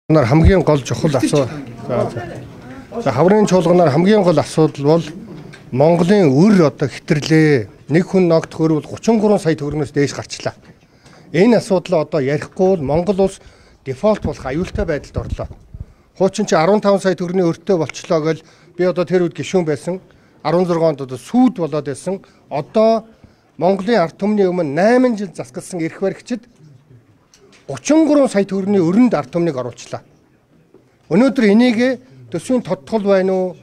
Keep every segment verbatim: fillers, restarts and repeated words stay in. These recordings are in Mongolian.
Нар хамгийн гол чухал асуудал. За хаврын чуулганаар хамгийн гол асуудал бол Монголын өр одоо хитэрлээ. Нэг хүн ногдох өр бол гучин гурван сая төгрөгнөөс дээш гарчлаа. Энэ асуудлаа одоо ярихгүй бол Монгол улс дефолт болох аюултай байдалд орлоо. Хуучин чи арван таван сая төгрөгийн өртөө болчлоо гэл би одоо тэр үед гишүүн байсан. арван зургаан онд одоо сүйд болоод байсан. Одоо Монголын ард түмний өмнө найман жил засгалсан эрх баригчид гучин гурван сая төгрөгийн өрөнд ард түмнийг оруулчлаа. Өнөөдөр энийг төсвийн тодтгол байна уу?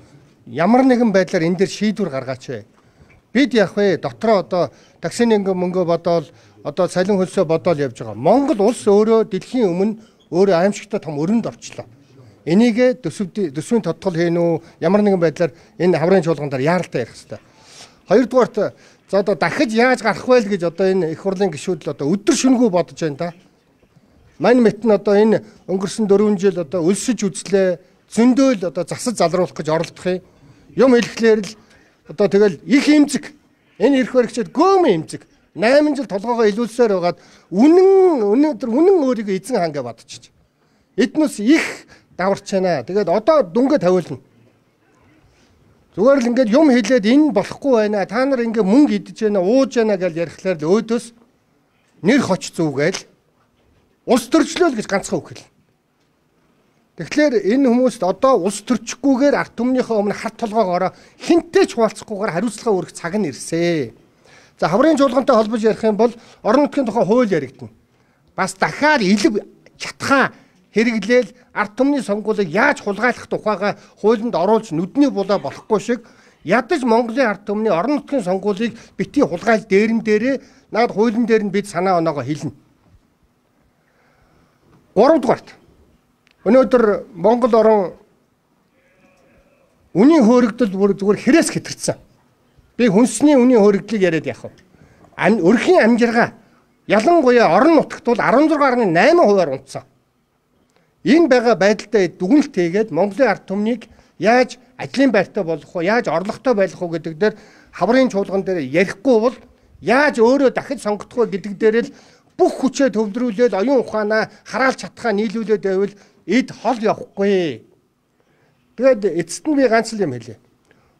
Ямар нэгэн байдлаар энэ дээр шийдвэр гаргаач вэ? Бид яг вэ дотроо одоо таксины мөнгө бодоол одоо цалин хөлсөө бодоол явж байгаа. Монгол улс өөрөө дэлхийн өмнө өөрөө аимшигтай том өрөнд орчлоо. Энийг төсвийн тодтгол хийн үү? Ямар нэгэн байдлаар энэ хаврын чуулган дээр яаралтай ярих хэрэгтэй. Хоёрдугаарт за одоо дахиж яаж гарах вэ гэж одоо энэ их хурлын гишүүд л одоо өдөр шөнөгүй бодож байна да. Мань мэт нь одоо энэ өнгөрсөн дөрвөн жил одоо өлсөж үзлээ, зөндөөл одоо засаж залруулах гэж оролдох юм. Юм хэлэхлээр л одоо тэгэл их имзэг. Энэ эрх баригчид гөөм имзэг. найман жил толгоогоо илүүлсээр байгаад үнэн өнөөдөр үнэн өөрийгөө эзэн хангаа бодчих. Эднээс их даварч байна. Тэгээд одоо дүнгээ тавиулна. Зүгээр л ингээд юм хэлээд энэ болохгүй байна. Та нар ингээд мөнгө идэж байна, ууж байна гэж ярихлаар л өөдөөс нэр хоч зүгээл улс төрчлөөл гэж ганцхан үг хэл. Тэгэхээр энэ хүмүүст одоо улс төрчихгүйгээр ард түмнийхээ өмнө хат толгоогоороо хинтээ ч хуваалцахгүйгээр хариуцлага өргөх цаг нь ирсэ. За хаврын чуулгантай холбож ярих юм бол орон нутгийн тухай хууль яригдана. Бас дахиад илэв чатхаа хэрэглээл ард түмний сонгуулийг яаж хулгайлах тухайга хуулинд оруулж нүдний булаа болохгүй шиг ядаж Монголын ард түмний орон нутгийн сонгуулийг бити хулгайл дээрэн дээрээ наад хуулийн дээр нь бид санаа оноогоо хэлнэ. Гуравдугаарт өнөөдөр Монгол орон үнийн хөөрөгдөл бүр зүгээр хэрээс хэтэрсэн. Би хүнсний үнийн хөөрөгдлийг яриад яах вэ? Өрхийн амжиргаа ялангуяа орон нутагт бол арван зургаан гаруй найман хувиар унтсан. Энэ байгаа байдалтай дүгнэлт хийгээд Монголын ард түмнийг яаж ажлын байртай болох вэ? Яаж орлоготой байх вэ гэдэг дээр хаврын чуулган дээр ярихгүй бол яаж өөрөө дахиж сонгогдох вэ гэдэг дээр л бүх хүчээ төвлөрүүлээд оюун ухаанаа хараалж чадхаа нийлүүлээд байвал эд хол явахгүй. Тэгээд эцэст нь би ганц л юм хэлье.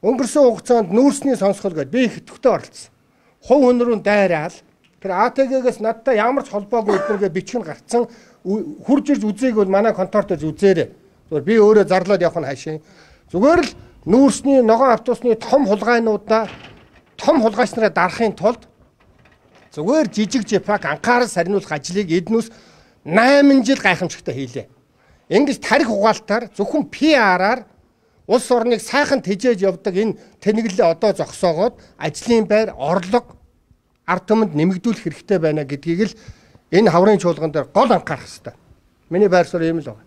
Өнгөрсөн хугацаанд нүүрсний сонсгол гэдэг би их идэвхтэй оролцсон. Хувь хүн рүү дайраал тэр А Т Г-гээс надтай ямар ч холбоогүй өдрөгээ бичгэн гарцсан хурж ирж үзээг бол манай контортой үзээрэй. Зүгээр би өөрөө зарлаад явах нь хаашаа. Зүгээр л нүүрсний ногоон автобусны том хулгайнуудаа том хулгайч нараа дарахын тулд зүгээр жижиг жипак анхаарал сарниулах ажлыг эднүүс найман жил гайхамшигтай хийлээ. Ингэж тарих угаалтаар зөвхөн Пи Ар-аар улс орныг сайхан тэжээж явдаг энэ тэнэглэлээ одоо зогсоогоод ажлын байр, орлого ард түмэнд нэмэгдүүлэх хэрэгтэй байна гэдгийг л энэ хаврын чуулган дээр гол анхаарах хэрэгтэй. Миний байр суурь ийм л байна.